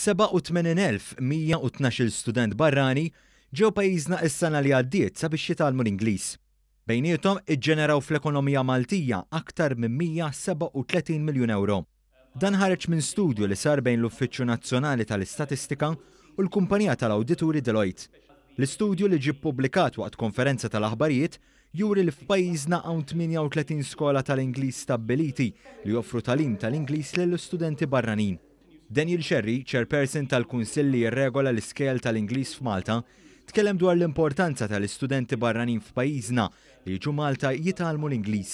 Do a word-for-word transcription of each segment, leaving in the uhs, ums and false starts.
Sebgħa u tmenin elf mija u tnax-il student barrani ġew pajjiżna is-sena li għaddiet sabiex jitgħallmu l-Ingliż. Bejniethom iġġeneraw fl-ekonomija Maltija aktar minn mija sebgħa u tletin miljun euro. Dan ħareġ minn studju li sar bejn l-Uffiċċju Nazzjonali tal-Istatistika u l-kumpanija tal-awdituri Deloitte. L-istudju li ġie ppubblikat waqt konferenza tal-aħbarijiet juri li f'pajjiżna hawn tmienja u tletin skola tal-Ingliż stabbiliti li joffru tagħlim tal-Ingliż lill-istudenti barranin. Daniel Scerri, chairperson tal-Kunsill li jirregola l-iskejjel tal-Ingliż f'Malta, tkellem dwar l-importanza tal-istudenti barranin f'pajjiżna li jiġu Malta jitgħallmu l-Ingliż.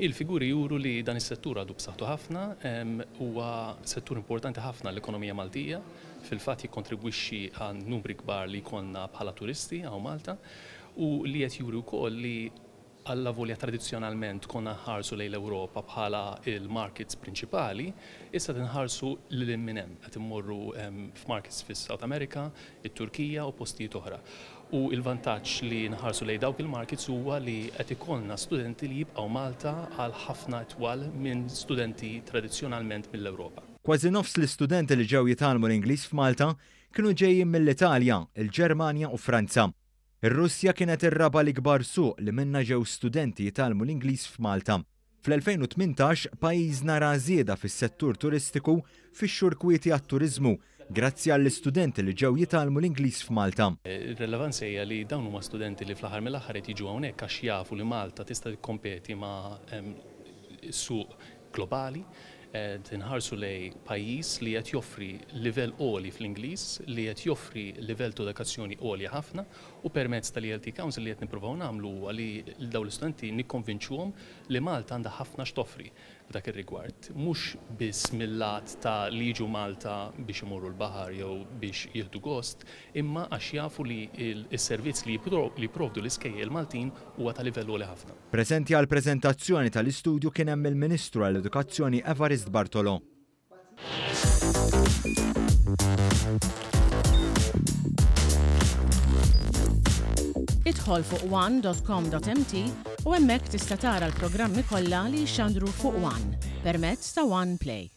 Il-figuri juru li dan is-settur għadu b'saħħtu ħafna, em, huwa settur importanti ħafna l-ekonomija Maltija, fil-fatt jikkontribwixxi għal numri kbar li jkollna bħala turisti hawn Malta, u li qed juri wkoll li allavolja tradizzjonalment konna nħarsu lejn l-Ewropa bħala il-markets prinċipali, issa tinħarsu lil hinn minn hemm, qed immorru, em, f'markets fis-South America, it-Turkija u postijiet oħra. U il-vantaġġ li nħarsu lejn dawk il-markets huwa li qed ikollna studenti li jibqgħu Malta għal ħafna itwal minn studenti tradizzjonalment mill-Ewropa. Kważi nofs l-istudenti li ġew jitgħallmu l-Ingliż f'Malta kienu ġejjin mill-Italja, il-Ġermanja u Franza. Ir-Russja kienet ir-raba' l-ikbar suq li minnha ġew studenti jitgħallmu l-Ingliż f'Malta. Fl-elfejn u tmintax pajjiżna ra żieda fis-settur turistiku fix-xhur kwieti għat-turiżmu grazzi għall-istudenti li ġew jitgħallmu l-Ingliż f'Malta. Ir-relevanza hija li dawn huma studenti li fl-aħħar mill-aħħar qed jiġu hawnhekk għax jafu li Malta tista' tikkompeti ma', em, suq globali. Eh, tinħarsu lej pajjiż li qed joffri livell għoli fl-Ingliż, li qed joffri livell ta' edukazzjoni għolja ħafna, u permezz tal-E L T Council li qed nippruvaw nagħmlu huwa li dawn l-istudenti nikkonvinċuhom li Malta għandha ħafna x'toffri f'dak ir-rigward, mhux biss mill-lat ta' li jiġu Malta biex imorru l-baħar jew biex jieħdu gost, imma għax jafu li il-, is-servizz li jipro-, li jipprovdu l-iskejjel Maltin huwa ta' livell għoli ħafna. Preżenti għall-preżentazzjoni tal-istudju kien hemm il-Ministru għall-Edukazzjoni Evarist Bartolo. Idħol fuq one dot com dot M T u hemmhekk tista' tara l-programmi kollha li jixxandru fuq One permezz ta' One Play.